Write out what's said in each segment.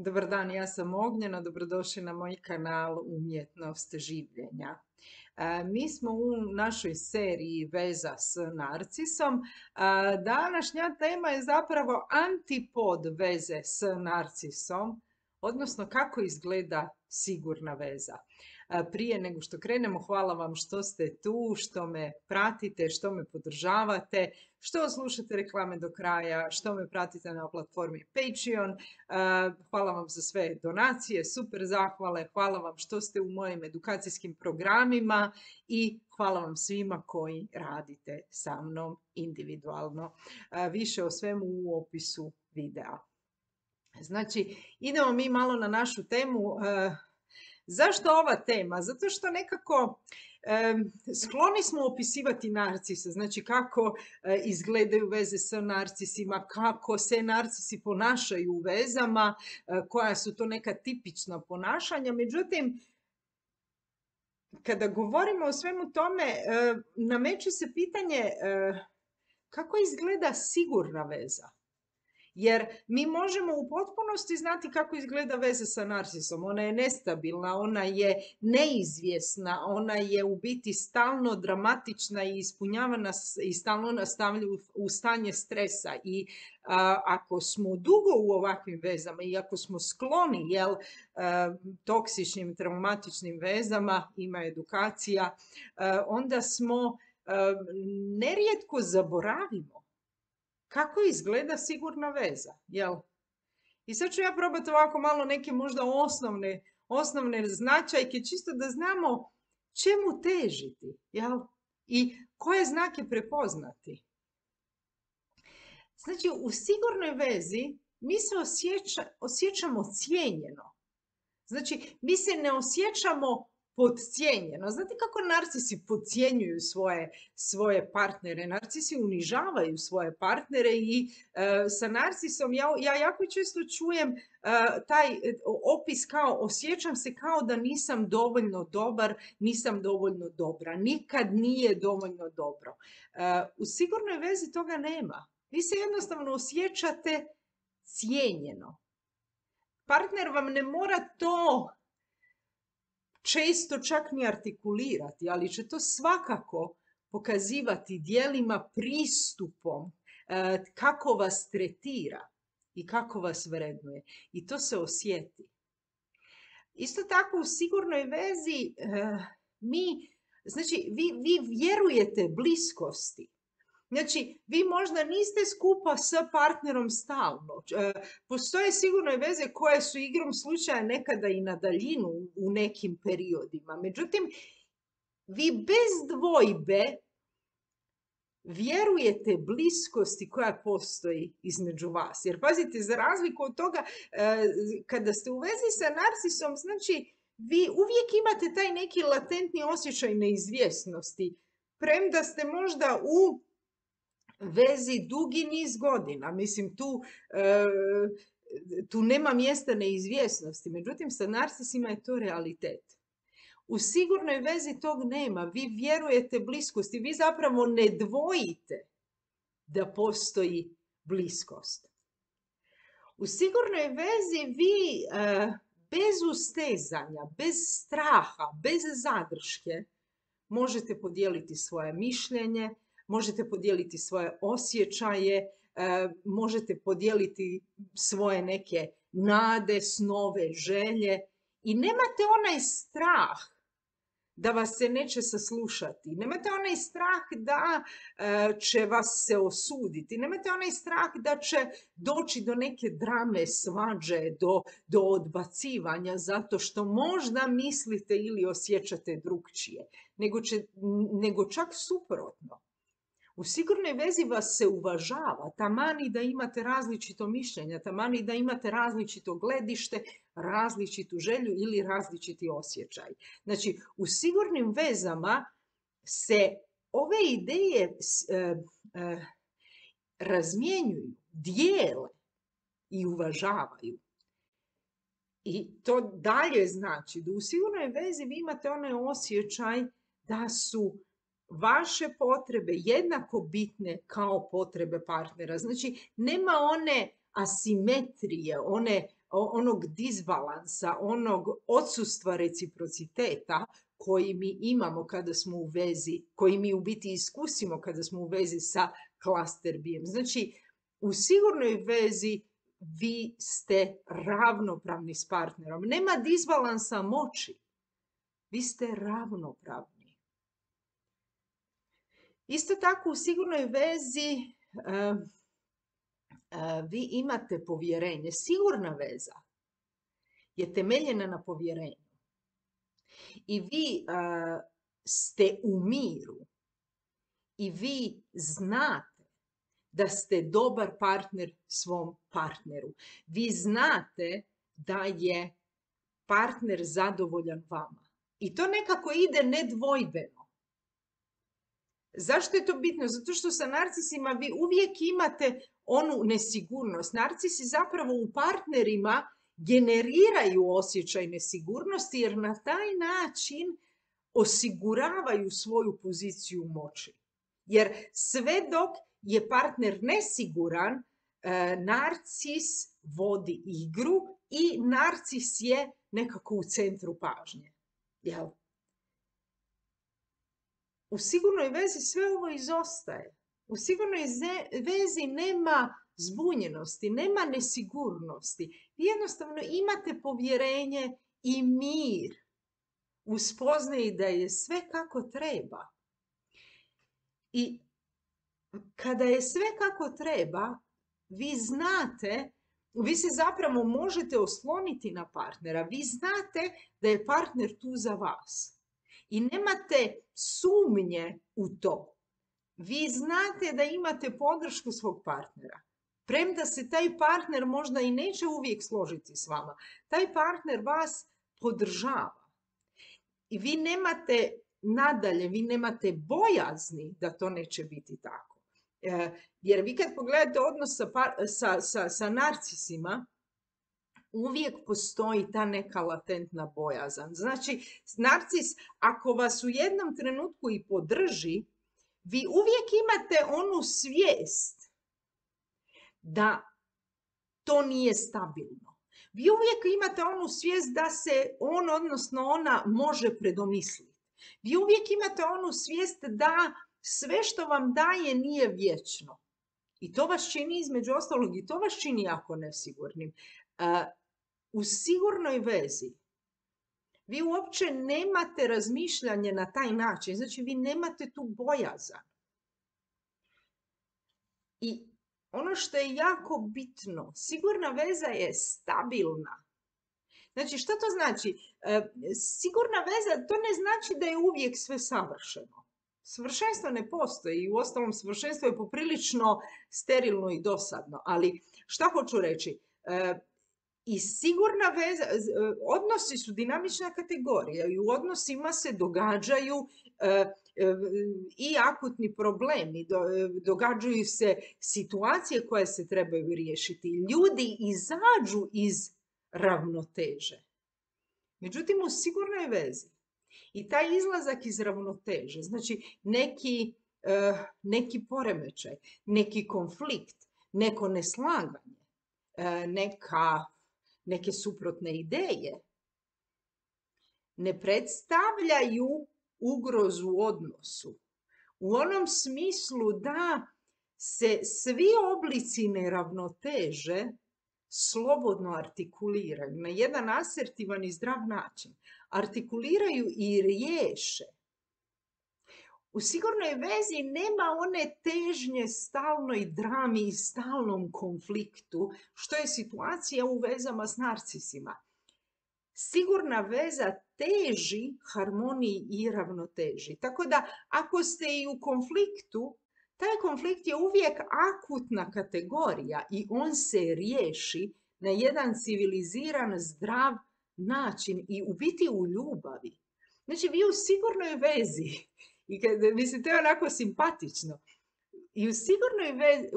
Dobar dan, ja sam Ognjena, dobrodošli na moj kanal Umjetnost življenja. Mi smo u našoj seriji Veza s narcisom. Današnja tema je zapravo antipod veze s narcisom, odnosno kako izgleda sigurna veza. Prije nego što krenemo, hvala vam što ste tu, što me pratite, što me podržavate, što slušate reklame do kraja, što me pratite na platformi Patreon. Hvala vam za sve donacije, super zahvale, hvala vam što ste u mojim edukacijskim programima i hvala vam svima koji radite sa mnom individualno. Više o svemu u opisu videa. Znači, idemo mi malo na našu temu. Zašto ova tema? Zato što nekako skloni smo opisivati narcise, znači kako izgledaju veze sa narcisima, kako se narcisi ponašaju u vezama, koja su to neka tipična ponašanja. Međutim, kada govorimo o svemu tome, nameće se pitanje kako izgleda sigurna veza. Jer mi možemo u potpunosti znati kako izgleda veza sa narcisom. Ona je nestabilna, ona je neizvjesna, ona je u biti stalno dramatična i ispunjava nas i stalno nas stavlja u stanje stresa. I ako smo dugo u ovakvim vezama i ako smo skloni toksičnim, traumatičnim vezama, ima edukacija, onda smo nerijetko zaboravimo kako izgleda sigurna veza, jel? I sad ću ja probati ovako malo neke možda osnovne značajke, čisto da znamo čemu težiti, jel? I koje znake prepoznati. Znači, u sigurnoj vezi mi se osjećamo cijenjeno. Znači, mi se ne osjećamo podcijenjeno. Znate kako narcisi podcjenjuju svoje partnere? Narcisi unižavaju svoje partnere i sa narcisom ja jako često čujem taj opis kao osjećam se kao da nisam dovoljno dobar, nisam dovoljno dobra. Nikad nije dovoljno dobro. U sigurnoj vezi toga nema. Vi se jednostavno osjećate cijenjeno. Partner vam ne mora to često čak ni artikulirati, ali će to svakako pokazivati djelima, pristupom, kako vas tretira i kako vas vrednuje. I to se osjeti. Isto tako u sigurnoj vezi vi vjerujete bliskosti. Znači, vi možda niste skupa sa partnerom stalno. Postoje sigurno veze koje su igrom slučaja nekada i na daljinu u nekim periodima. Međutim, vi bez dvojbe vjerujete bliskosti koja postoji između vas. Jer pazite, za razliku od toga, kada ste u vezi sa narcisom, znači, vi uvijek imate taj neki latentni osjećaj neizvjesnosti. Premda ste možda u vezi dugi niz godina. Mislim, tu nema mjesta neizvjesnosti. Međutim, sa narcisima je to realitet. U sigurnoj vezi tog nema. Vi vjerujete bliskosti. Vi zapravo ne dvojite da postoji bliskost. U sigurnoj vezi vi bez ustezanja, bez straha, bez zadrške možete podijeliti svoje mišljenje, možete podijeliti svoje osjećaje, možete podijeliti svoje neke nade, snove, želje i nemate onaj strah da vas se neće saslušati. Nemate onaj strah da će vas se osuditi. Nemate onaj strah da će doći do neke drame, svađe, do odbacivanja zato što možda mislite ili osjećate drukčije. Nego čak suprotno. U sigurnoj vezi vas se uvažava, taman i da imate različito mišljenje, taman i da imate različito gledište, različitu želju ili različiti osjećaj. Znači, u sigurnim vezama se ove ideje razmjenjuju, dijele i uvažavaju. I to dalje znači da u sigurnoj vezi vi imate onaj osjećaj da su vaše potrebe jednako bitne kao potrebe partnera. Znači, nema one asimetrije, one onog disbalansa, onog odsustva reciprociteta koji mi imamo kada smo u vezi, koji mi u biti iskusimo kada smo u vezi sa cluster B-em. Znači, u sigurnoj vezi vi ste ravnopravni s partnerom. Nema disbalansa moći. Vi ste ravnopravni. Isto tako u sigurnoj vezi vi imate povjerenje. Sigurna veza je temeljena na povjerenju. I vi ste u miru. I vi znate da ste dobar partner svom partneru. Vi znate da je partner zadovoljan vama. I to nekako ide nedvojbeno. Zašto je to bitno? Zato što sa narcisima vi uvijek imate onu nesigurnost. Narcisi zapravo u partnerima generiraju osjećaj nesigurnosti jer na taj način osiguravaju svoju poziciju moći. Jer sve dok je partner nesiguran, narcis vodi igru i narcis je nekako u centru pažnje. Jel? U sigurnoj vezi sve ovo izostaje. U sigurnoj vezi nema zbunjenosti, nema nesigurnosti. Vi jednostavno imate povjerenje i mir u spoznaji da je sve kako treba. I kada je sve kako treba, vi znate, vi se zapravo možete osloniti na partnera. Vi znate da je partner tu za vas. I nemate sumnje u to. Vi znate da imate podršku svog partnera. Premda se taj partner možda i neće uvijek složiti s vama. Taj partner vas podržava. I vi nemate nadalje, vi nemate bojazni da to neće biti tako. Jer vi kad pogledate odnos sa narcisima, uvijek postoji ta neka latentna bojazan. Znači, narcis, ako vas u jednom trenutku i podrži, vi uvijek imate onu svijest da to nije stabilno. Vi uvijek imate onu svijest da se on, odnosno ona, može predomisliti. Vi uvijek imate onu svijest da sve što vam daje nije vječno. I to vas čini, između ostalog, i to vas čini jako nesigurnim. U sigurnoj vezi vi uopće nemate razmišljanje na taj način. Znači, vi nemate tu bojazan. I ono što je jako bitno, sigurna veza je stabilna. Znači, što to znači? Sigurna veza, to ne znači da je uvijek sve savršeno. Savršenstvo ne postoji i uostalom savršenstvo je poprilično sterilno i dosadno. Ali šta hoću reći? I sigurna veza, odnosi su dinamična kategorija i u odnosima se događaju i akutni problemi, događaju se situacije koje se trebaju riješiti. Ljudi izađu iz ravnoteže. Međutim, u sigurnoj vezi i taj izlazak iz ravnoteže, znači neki poremećaj, neki konflikt, neko neslaganje, neke suprotne ideje, ne predstavljaju ugrozu u odnosu. U onom smislu da se svi oblici neravnoteže slobodno artikuliraju na jedan asertivan i zdrav način. Artikuliraju i riješe. U sigurnoj vezi nema one težnje stalnoj drami i stalnom konfliktu, što je situacija u vezama s narcisima. Sigurna veza teži harmoniji i ravnoteži. Tako da, ako ste i u konfliktu, taj konflikt je uvijek akutna kategorija i on se riješi na jedan civiliziran, zdrav način i u biti u ljubavi. Znači, vi u sigurnoj vezi, i mislim, to je onako simpatično, i u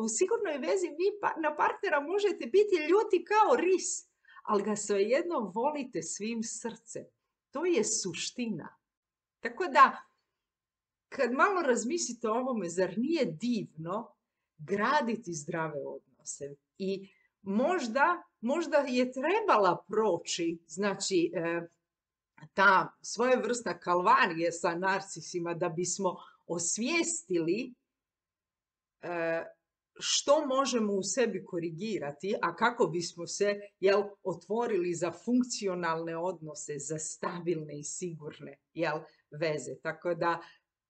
sigurnoj vezi vi na partnera možete biti ljuti kao ris, ali ga svejedno volite svim srcem. To je suština. Tako da, kad malo razmislite o ovome, zar nije divno graditi zdrave odnose? I možda je trebala proći, znači, ta svojevrsna kalvarija sa narcisima da bismo osvijestili što možemo u sebi korigirati, a kako bismo se otvorili za funkcionalne odnose, za stabilne i sigurne veze. Tako da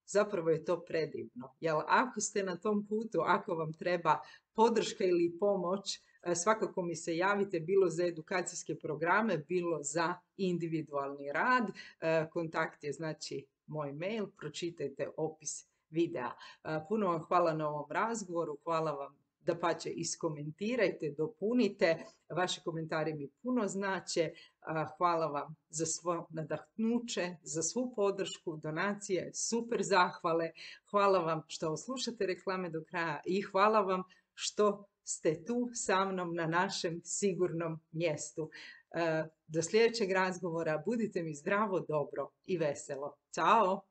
zapravo je to predivno. Ako ste na tom putu, ako vam treba podrška ili pomoć, svakako mi se javite, bilo za edukacijske programe, bilo za individualni rad. Kontakt je znači moj mail, pročitajte opis videa. Puno vam hvala na ovom razgovoru, hvala vam, dapače iskomentirajte, dopunite, vaši komentari mi puno znače. Hvala vam za svo nadahnuće, za svu podršku, donacije, super zahvale. Hvala vam što slušate reklame do kraja i hvala vam što ste tu sa mnom na našem sigurnom mjestu. Do sljedećeg razgovora, budite mi zdravo, dobro i veselo. Ćao!